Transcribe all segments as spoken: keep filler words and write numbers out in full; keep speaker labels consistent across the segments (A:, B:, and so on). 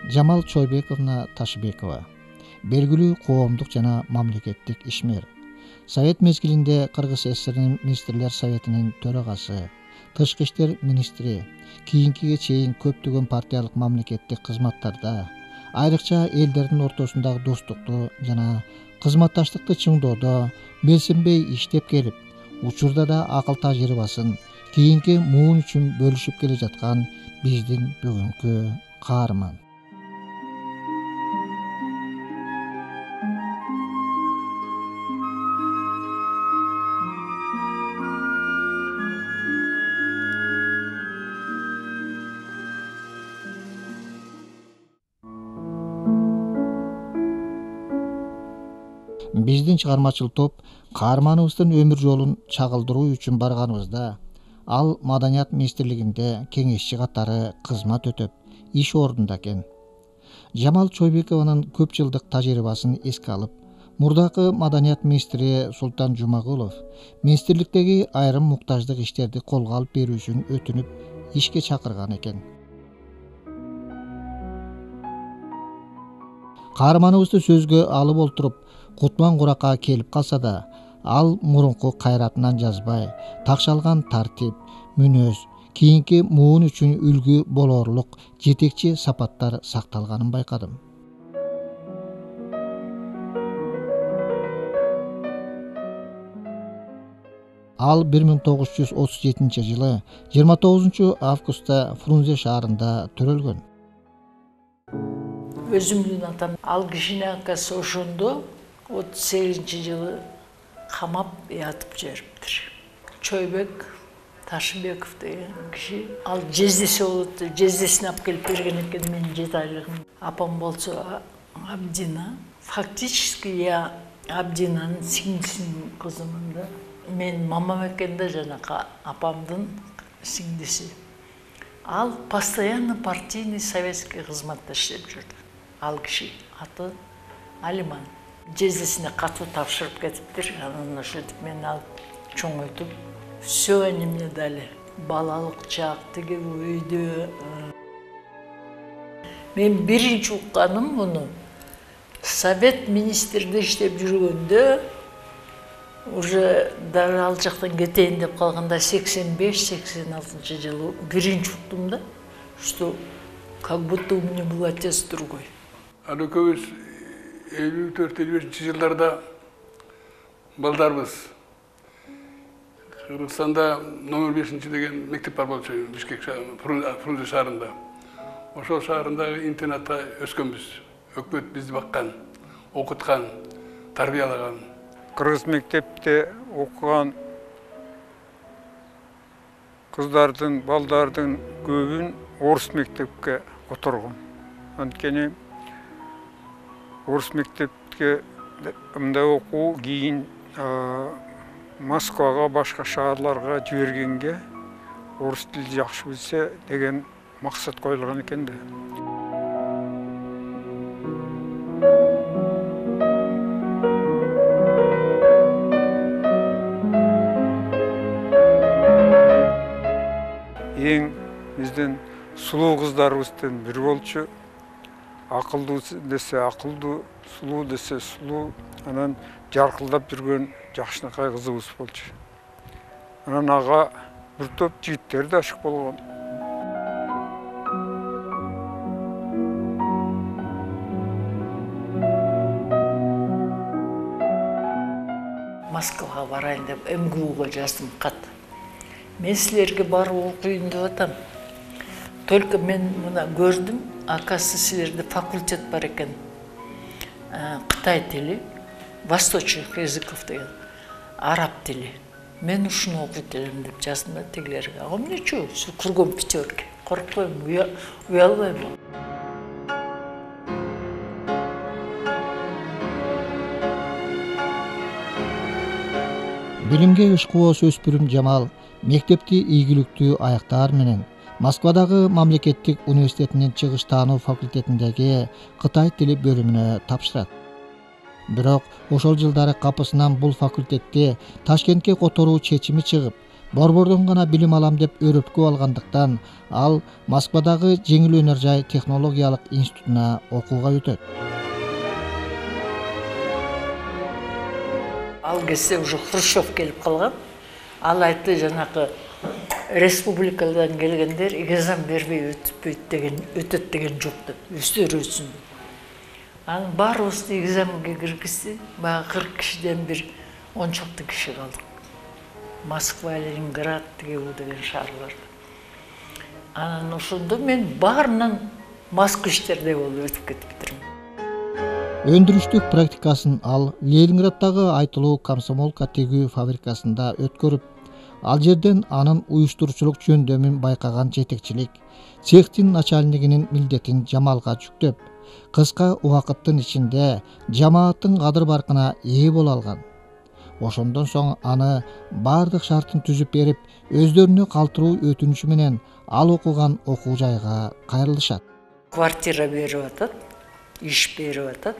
A: Жамал Чойбековна Ташыбекова белгилүү коомдук жана мамлекеттик ишмер. Совет мезгилинде Кыргыз ССРнин министрлер советинин төрагасы, тышкы иштер министри, кийинкиге чейин көптөгөн партиялык мамлекеттик кызматтарда, айрыкча элдердин ортосундагы достукту жана кызматташтыкты чыңдоодо белсенбей иштеп келип, учурда да акыл тажрыйбасын кийинки муун үчүн бөлүшүп келе жаткан биздин бүгүнкү каарман. Биздин чыгармачыл топ каарманыбыздын өмүр жолун чагылдыруу үчүн барганыбызда, ал Маданият министрлигинде кеңешчи катары кызмат өтөп, иш ордунда экен. Жамал Чойбекованын көп жылдык тажрыйбасын эске алып, мурдакы Маданият министри Султан Жумагулов министрликтеги айрым муктаждык иштерди колго алып берүүсүн өтүнүп, ишке чакырган экен. Каарманыбызды сөзгө алып олтуруп, Кутман куракка келип калса да, ал мурунку кайратынан жазбай, такшалган тартип, мүнөз, кийинки муун үчүн үлгү болоорлук жетекчи сапаттар сакталганын байкадым. Ал бир миң тогуз жүз отуз жетинчи жылы жыйырма тогузунчу августта Фрунзе шаарында төрөлгөн.
B: Өзүмдүн атам ал кишини акасы ошондо отуз сегизинчи жылы камап ятып жибериптир. Чойбек Ташыбеков деген киши, ал жездеси болот, жездесин алып келип берген экен менин жети айлыгым. Апам болсо Абдина. Фактически я Абдинанын сиңдисинин кызымын да. Мен мамам экен да жанакы апамдын сиңдиси. Ал постоянно партийный советский кызматта иштеп жүрдү. Ал киши аты Алиман. Жездесине катуу тапшырып кетиптир. Анан ошентип мени алып чоңойтуп, все они мне дали. Балалык чак, тиги үйдө. Мен биринчи укканым муну Совет министрде иштеп жүргөндө, уже дагы ал жактан кетейин деп калганда сексен беш сексен алтынчы жылы биринчи уктум да, что как будто у меня был отец другой.
C: Ал экөөбүз элүү төрт элүү бешинчи жылдарда балдарбыз. Кыргызстанда номер бешинчи деген мектеп бар болчу, Бишкек Фрунзе шаарында. Ошол шаарындагы интернатта өскөнбүз. Өкмөт бизди баккан, окуткан, тарбиялаган.
D: Кыргыз мектепте окуган кыздардын, балдардын көбүн орус мектепке которгон. Анткени орус мектепке мындай окуу кийин Москвага, башка шаарларга жибергенге орус тили жакшы билсе деген максат коюлган экен да. Эң биздин сулуу кыздарыбыздын бири болчу. Акылдуу десе акылдуу, сулуу десе сулуу, анан жаркылдап жүргөн жакшынакай кызыбыз болчу. Анан ага бир топ жигиттер да ашык болгон.
B: Москвага барайын деп эм гэ уга жаздым кат. Мен силерге барып окуйын деп атам. Только мен мына көрдүм, акасы силерде факультет бар экен. Кытай тили, восточных языков деген, араб тили. Мен ушуну окуйт элем деп жаздым да тигилерге. А эмне чу, кургон пятерки. Коркпойм, уялбайм.
A: Билимге ишкубоз өспүрүм Жамал мектепти ийгиликтүү аяктаар менен Москвадагы мамлекеттик университетинин чыгыш таануу факультетиндеги Кытай тили бөлүмүнө тапшырат. Бирок ошол жылдары капысынан бул факультетти Ташкентке которуу чечими чыгып, Борбордон гана билим алам деп өрөткү алгандыктан ал Москвадагы жеңил өнөр жай технологиялык институтуна окууга өтөт.
B: Ал кезде уже Хрущев келип калган. Ал айтты, жанакы республикадан келгендер экзамен бербей өтпөйт деген, өтөт деген жок деп, өздөрү өтсүн. Анын баарыбызды экзаменге киргизди. Баягы кырк кишиден бир он чакты киши калдык. Москва, Ленинград деген шаарларда. Анан ошондо мен баарынан москвичтердей болуп өтүп кетиптирмин.
A: Өндүрүштүк практикасын ал Ленинграддагы айтылуу комсомолка тегүү фабрикасында өткөрүп, ал жерден анын уюштуруучулук жөндөмүн байкаган жетекчилик цехтин начальнигинин милдетин Жамалга жүктөп, кыска убакыттын ичинде жамааттын кадыр баркына ээ боло алган. Ошондон соң аны бардык шартын түзүп берип, өздөрүнө калтыруу өтүнүчү менен ал окуган окуу жайга кайрылышат.
B: Квартира берип атат, иш берип атат,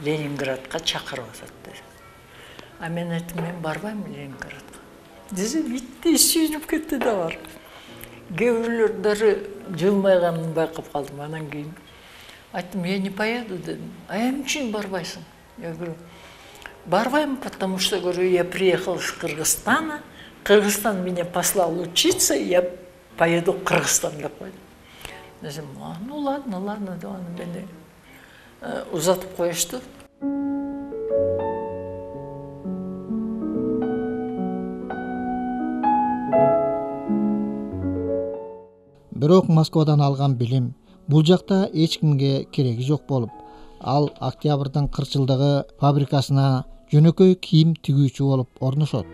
B: Ленинградка чакырып атат dedi. А мен айттым, мен барбайм Ленинградка. Десем, иттей сүйүнүп кетти да бар. Кээ бирлөр дары жылмайганын байкап калдым. Анан кийин айттым, я не поеду дедим. А эмне үчүн барбайсың? Я говорю, барбайм, потому что, говорю, я приехал из Кыргызстана, Кыргызстан меня послал учиться, я поеду в Кыргызстан деп койдум. Десем, а, ну ладно, ладно, деп аны мени узатып коюшту.
A: Бирок Москвадан алган билим бул жакта эч кимге кереги жок болуп, ал Октябрдын кыркчылдыгы фабрикасына жөнөкөй кийим тигүүчү болуп орношот.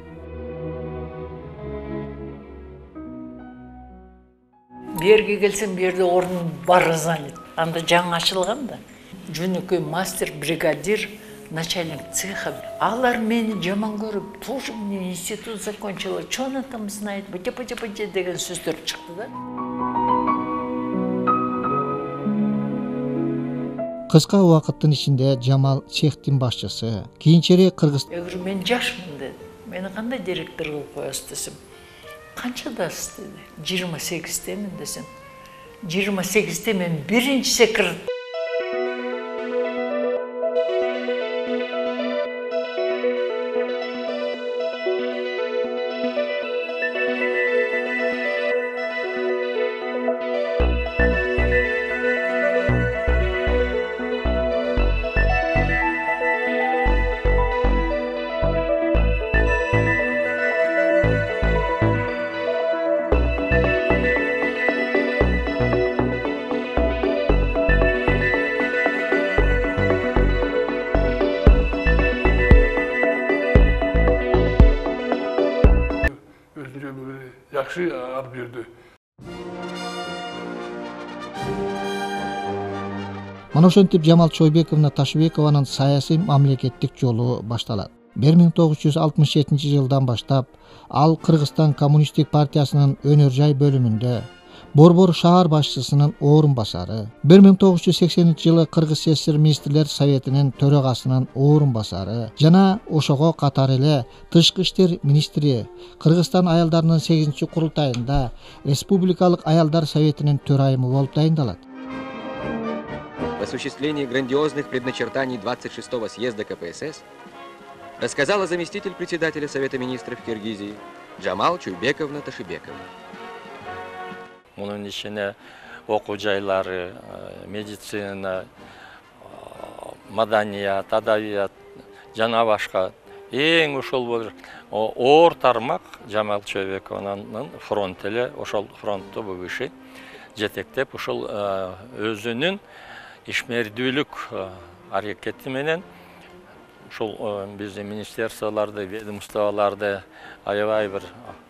B: Берге келсем, берде орун бар занят. Анда жаңы ачылган да. Жөнөкөй мастер, бригадир, начальник цеха. Алар мени жаман көрүп, тоже мне институт закончила, что она там знает, быте-быте-быте деген сөздөр чыкты да.
A: Кыска убакыттын ичинде Жамал цехтин башчысы, кийинчерээк Кыргыз.
B: Я говорю, мен жашмын дедим. Мени кандай директор кылып коесуз десем. Канчадасыз деди. жыйырма сегиздемин десем. жыйырма сегизде мен биринчи секретарь.
C: Жакшы алып жүрдү.
A: Мына ошентип Жамал Чойбековна Ташыбекованын саясий мамлекеттик жолу башталат. бир миң тогуз жүз алтымыш жетинчи жылдан баштап ал Кыргызстан коммунисттик партиясынын өнөр жай бөлүмүндө Борбор шаар башчысынын орун басары, бир миң тогуз жүз сексенинчи жылы Кыргыз СССР министрлер советинин төрагасынын орун басары жана ошого катар эле тышкы иштер министри, Кыргызстан аялдарынын сегизинчи курултайында Республикалык аялдар советинин төрайымы болуп дайындалат.
E: В осуществлении грандиозных предначертаний двадцать шестого съезда КПСС рассказала заместитель председателя Совета министров Киргизии Жамал Чойбековна Ташыбекова.
F: Мунун ичине окуу жайлары, медицина, маданият, адабият жана башка эң ошол бир оор тармак Жамал Чойбекованын фронт эле, ошол фронтту бул киши жетектеп, ошол өзүнүн ишмердүүлүк аракети менен ушул биздин министерстволорду, ведомстволорду аябай бир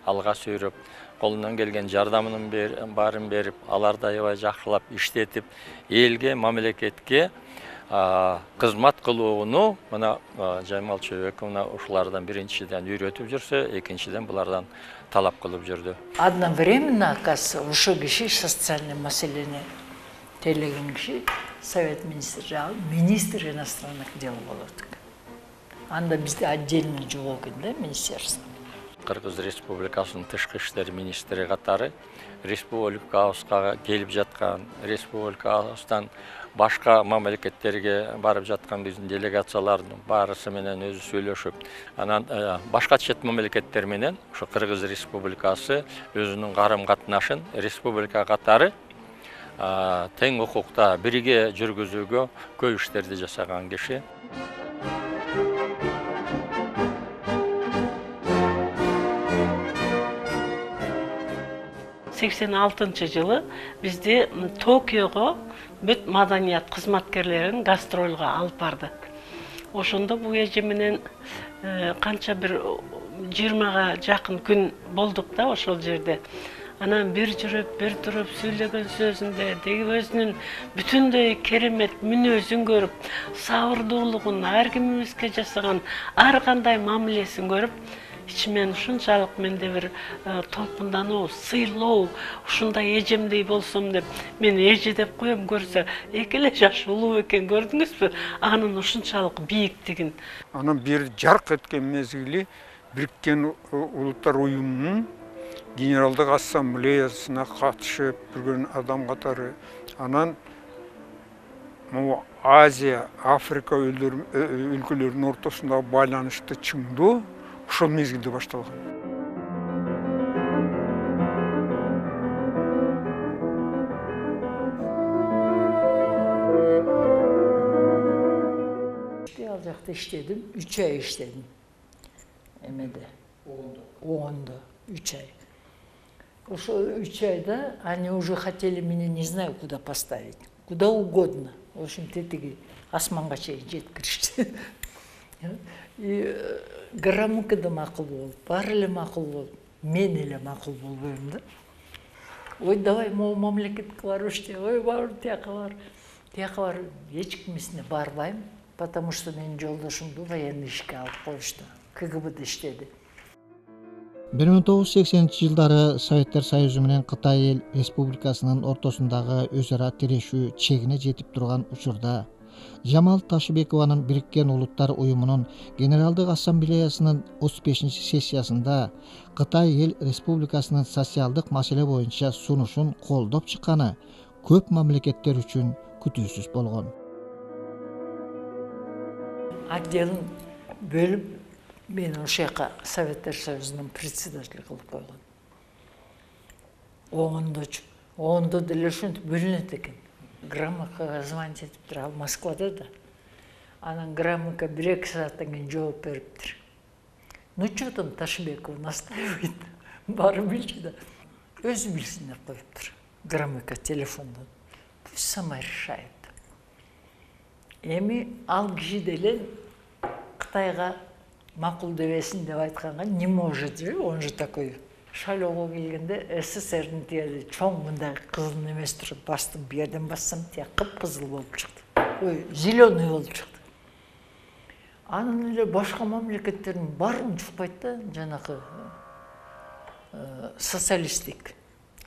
F: алга сүйрөп, колунан келген жардамынын баарын берип, аларды аябай жакшылап иштетип, элге, мамлекетке кызмат кылууну мына Жамал Чойбековна ушулардан биринчиден үйрөтүп жүрсө, экинчиден булардан талап кылып жүрдү.
B: Одновременно, оказывается, ошол киши социальный маселени тейлеген киши Совет министри, министр иностранных дел болот. Анда бизде отдельно жок экен да министерство.
F: Кыргыз Республикасынын тышкы иштер министри катары республикабызга келип жаткан, республикабыздан башка мамлекеттерге барып жаткан биздин делегациялардын баарысы менен өзү сүйлөшүп, анан башка чет мамлекеттер менен ушу Кыргыз Республикасы өзүнүн карым-катнашын республика катары тең укукта бирге жүргүзүүгө көп иштерди жасаган киши.
G: сексен алтынчы жылы бизди Токиого бүт маданият кызматкерлерин гастролго алып барды. Ошондо бул эже менен канча бир жыйырмага жакын күн болдук да ошол жерде. Анан бир жүрүп, бир туруп сүйлөгөн сөзүндө деги өзүнүн бүтүндөй керемет мүнөзүн көрүп, сабырдуулугун, ар кимибизге жасаган ар кандай мамилесин көрүп, ичимен ушунчалык менде бир толкундануу, сыйлоо, ушундай эжемдей болсом деп, мен эже деп коем, көрсө эки эле жаш улуу экен, көрдүңүзбү? Анын ушунчалык бийиктигин.
D: Анан бир жарк эткен мезгили Бириккен Улуттар уюмунун Генералдык ассамблеясына катышып жүргөн адам катары, анан Азия, Африка өлкөлөрүнүн ортосундагы байланышты чыңдоо ошол мезгилде башталган.
B: Ал жакта иштедим, үч ай иштедим. Эмеде? Оғондо, үч ай. Ошо үч айда они уже хотели меня, не знаю, куда поставить. Куда угодно. В общем, тетиги асманга чейин жеткиришти. И граммыкы да макул болуп, баары эле макул болуп, мен эле макул болбойм да. Ой, давай могу мамлекетке барып иште, ой, бар, тияка бар. Тияка бар, эч кимисине барбайм, потому что менин жолдошумду военный ишке алып коюшту. КГБда иштеди.
A: бир миң тогуз жүз сексенинчи жылдары Советтер Союзу менен Кытай Эл Республикасынын ортосундагы өз ара тирешүү чегине жетип турган учурда Жамал Ташыбекованын Бириккен Улуттар уюмунун Генералдык ассамблеясынын отуз бешинчи сессиясында Кытай Эл Республикасынын социалдык маселе боюнча сунушун колдоп чыкканы көп мамлекеттер үчүн күтүүсүз болгон.
B: Отделин бөлүп, мен ошол жака Советтер Союзунун председатели кылып койгон. Оңондочу. Оңондо деле ошентип бөлүнөт экен. Граммыкага звонить этиптир, ал Москвада да. Анан граммыка бир-эки сааттан кийин жооп бериптир. Ну что там Ташыбекова настаивает? Барып билчи да. Өзү билсин деп коюптур. Граммыка телефондон. Пусть сама решает. Эми ал киши деле Кытайга макул дебесин деп айтканга не может же, он же такой. Шайлоого келгенде СССРдин тиги чоң мындай кызыл немес туруп бастым, бу жерден бассам тияк кып-кызыл болуп чыкты. Ой, зеленый болуп чыкты. Анын эле башка мамлекеттердин баарын чукпайт да, жанакы социалисттик.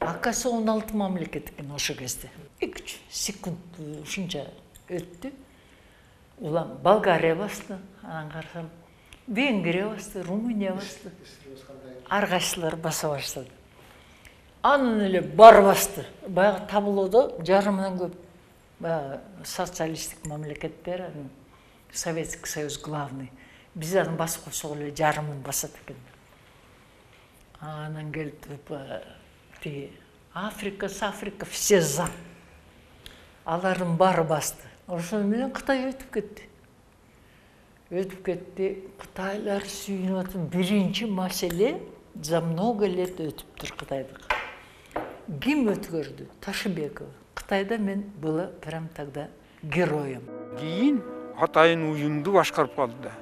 B: Акасы он алты мамлекет экен ошо кезде. эки үч секунд ушунча өттү. Улам Болгария басты, анан карасам Венгрия басты, Румыния басты. Ар кайсылары баса баштады. Анын эле бар басты. Баягы таблодо жарымынан көп баягы социалисттик мамлекеттер, Советский Союз главный. Биз аны басып койсок эле жарымын басат экен. Анан келип тиги Африка, Африка все за. Алардын баары басты. Ошону менен Кытай өтүп кетти. Өтүп кетти. Кытайлар сүйүнүп атат. Биринчи маселе за много лет өтүптүр Кытайдык. Ким өткөрдү? Ташыбекова. Кытайда мен была прям тогда героем.
D: Кийин атайын уюмду башкарып калды да.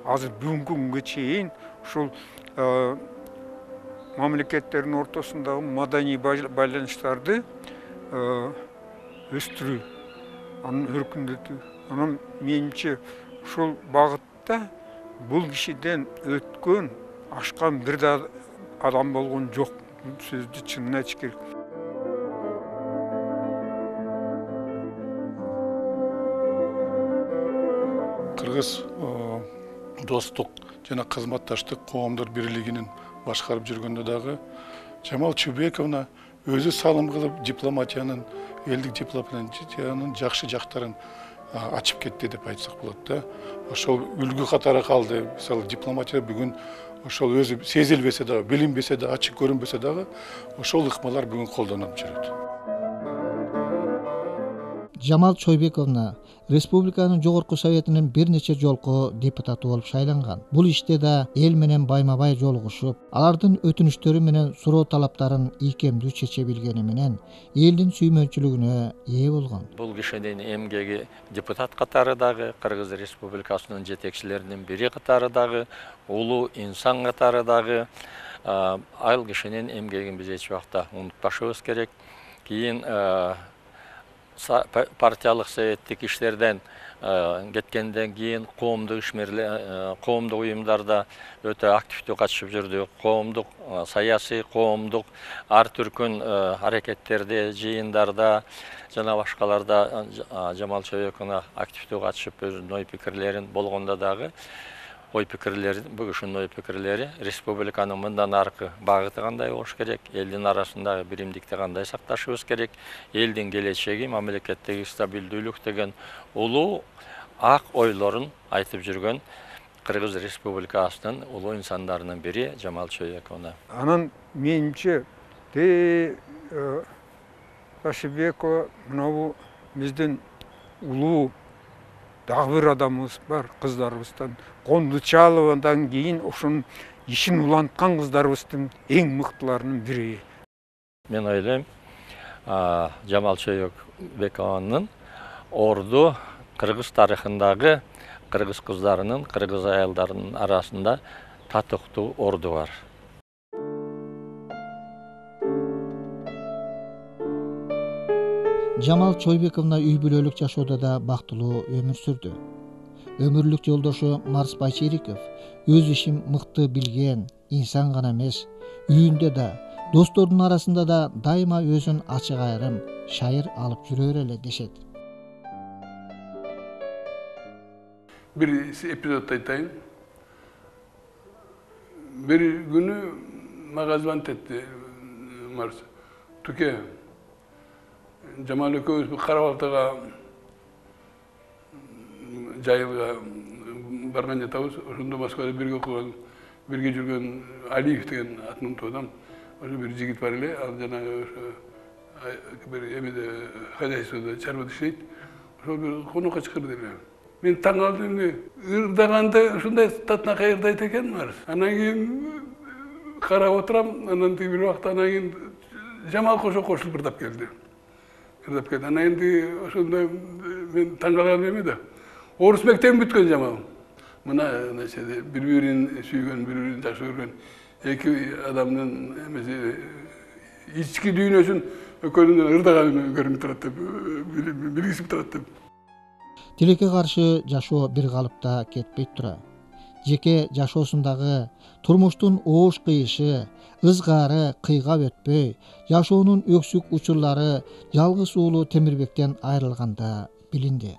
D: Азыр бүгүнкү күнгө чейин ушул мамлекеттердин ортосундагы маданий байланыштарды өстүрүү, анын өркүндөтүү. Анан менимче ушул багытта бул кишиден өткөн, ашкан бир да адам болгон жок. Сөздү чынын айтыш керек.
H: Кыргыз достук жана кызматташтык коомдор бирлигинин башкарып жүргөндө дагы Жамал Чойбековна өзү салым кылып дипломатиянын, элдик дипломатиянын жакшы жактарын ачып кетти деп айтсак болот да. Ошол үлгү катары калды. Мисалы дипломатия бүгүн ошол өзү сезилбесе дагы, билинбесе да, ачык көрүнбөсө дагы ошол ыкмалар бүгүн колдонулуп жүрөт.
A: Жамал Чойбековна Республиканын Жогорку Советинин бир нече жолку депутаты болуп шайланган. Бул иште да эл менен байма-бай жолугушуп, алардын өтүнүчтөрү менен суроо талаптарын ийкемдүү чече билгени менен элдин сүймөнчүлүгүнө ээ болгон.
F: Бул кишинин эмгеги депутат катары дагы, Кыргыз Республикасынын жетекчилеринин бири катары дагы, улуу инсан катары дагы, ал кишинин эмгегин биз эч убакта унутпашыбыз керек. Кийин партиялык советтик иштерден кеткенден кийин коомдук ишмерлер, коомдук уюмдарда өтө активдүү катышып жүрдү. Коомдук саясий, коомдук ар түркүн аракеттерде, жыйындарда жана башкаларда Жамал Чойбековна активдүү катышып өзүнүн ой пикирлерин болгондо дагы ой пикирлери, бул кишинин ой пикирлери республиканын мындан аркы багыты кандай болуш керек, элдин арасындагы биримдикти кандай сакташыбыз керек, элдин келечеги, мамлекеттеги стабилдүүлүк деген улуу ак ойлорун айтып жүргөн Кыргыз Республикасынын улуу инсандарынын бири Жамал Чойбековна.
D: Анан менимче де Ташыбекова мынабу биздин улуу дагы бир адамыбыз бар, кыздарыбыздан. Кондучаловандан кийин ошонун ишин уланткан кыздарыбыздын эң мыктыларынын бири.
F: Мен ойлойм, Жамал Чойбекованын орду кыргыз тарыхындагы кыргыз кыздарынын, кыргыз аялдарынын арасында татыктуу орду бар.
A: Жамал Чойбековна үй бүлөлүк жашоодо да бактылуу өмүр сүрдү. Өмүрлүк жолдошу Марс Байчериков өз ишин мыкты билген инсан гана эмес, үйүндө да, достордун арасында да дайыма өзүн ачык айрым, шайыр алып жүрөр эле дешет.
C: Бир эпизод айтайын. Бир күнү мага звонить этти Марс. Туке, Жамал экөөбүз Карабалтага жайылга барган жатабыз. Ошондо Москвада бирге окуган, бирге жүргөн Алиев деген атын унутуп атам. Ошо бир жигит бар эле, ал жанагы ошо бир эмеде хозяйствода чарбада иштейт. Ошол бир конокко чакырды эле. Мен таң калдым, ырдаганда ушундай татынакай ырдайт экен Марс. Анан кийин карап отурам, анан тиги бир убакта анан кийин Жамал кошо кошулуп ырдап келди. Ырдап келди. Анан энди ошондой мен таң калган эме да. Орус мектебин бүткөн Жамал. Мына бири-бирин сүйгөн, бири-бирин жакшы көргөн эки адамдын эмеси ички дүйнөсүн экөөнүн ырдаганын көрүнүп турат деп, билгизип турат деп.
A: Тилекке каршы жашоо бир калыпта кетпей тура. Жеке жашоосундагы турмуштун оош кыйышы, ызгаары кыйгап өтпөй, жашоонун өксүк учурлары жалгыз уулу Темирбектен айрылганда билинди.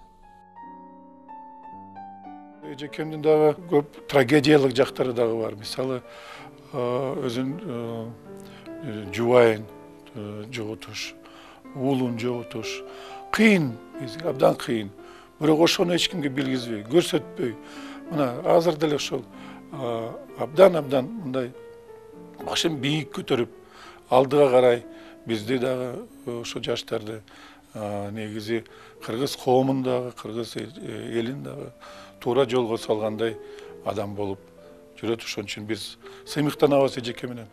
H: Эжекемдин дагы көп трагедиялык жактары дагы бар. Мисалы, өзүн жубайын жоготуш, уулун жоготуш кыйын, абдан кыйын. Бирок ошону эч кимге билгизбей, көрсөтпөй. Мына азыр деле ошол абдан-абдан мындай башын бийик көтөрүп, алдыга карай бизди дагы ошо жаштарды негизи кыргыз коомун дагы, кыргыз элин дагы туура жолго салгандай адам болуп жүрөт. Ошон үчүн биз сыймыктанабыз эжеке менен.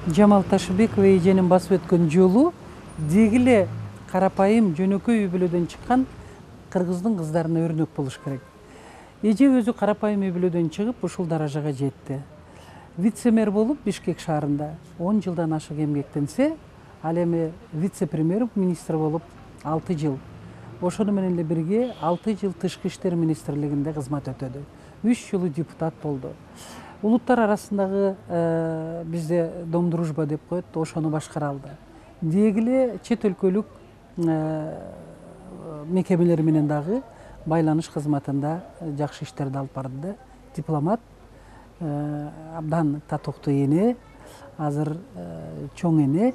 I: Жамал Ташыбекова эженин басып өткөн жолу деги эле карапайым жөнөкөй үй бүлөдөн чыккан кыргыздын кыздарына өрнөк болуш керек. Эже өзү карапайым үй бүлөдөн чыгып ушул даражага жетти. Вице-мэр болуп Бишкек шаарында он жылдан ашык эмгектенсе, ал эми вице-премьер министр болуп алты жыл. Ошону менен эле бирге алты жыл Тышкы иштер министрлигинде кызмат өтөдү. үч жылы депутат болду. Улуттар арасындагы бизде Дом дружба деп коет, ошону башкара алды. Деги эле чет өлкөлүк мекемелер менен дагы байланыш кызматында жакшы иштерди алып барды. Дипломат, абдан татыктуу эне, азыр чоң эне.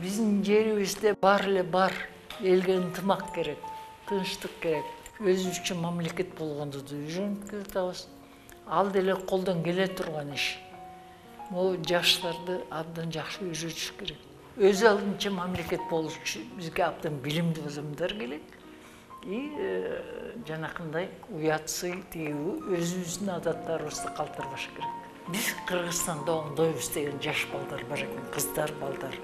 B: Биздин жерибизде бар эле бар, элге ынтымак керек, тынчтык керек. Өзүбүзчө мамлекет болгондуду үйрөнүп атабыз. Ал деле колдон келе турган иш. Могу жаштарды абдан жакшы үйрөтүш керек. Өз алдынча мамлекет болуш үчүн бизге абдан билимдүү адамдар керек. И жанакындай уятсый, тигүү өзүбүздүн адаттарыбызды калтырбаш керек. Биз Кыргызстанда оңдойбуз деген жаш балдар бар экен, кыздар, балдар.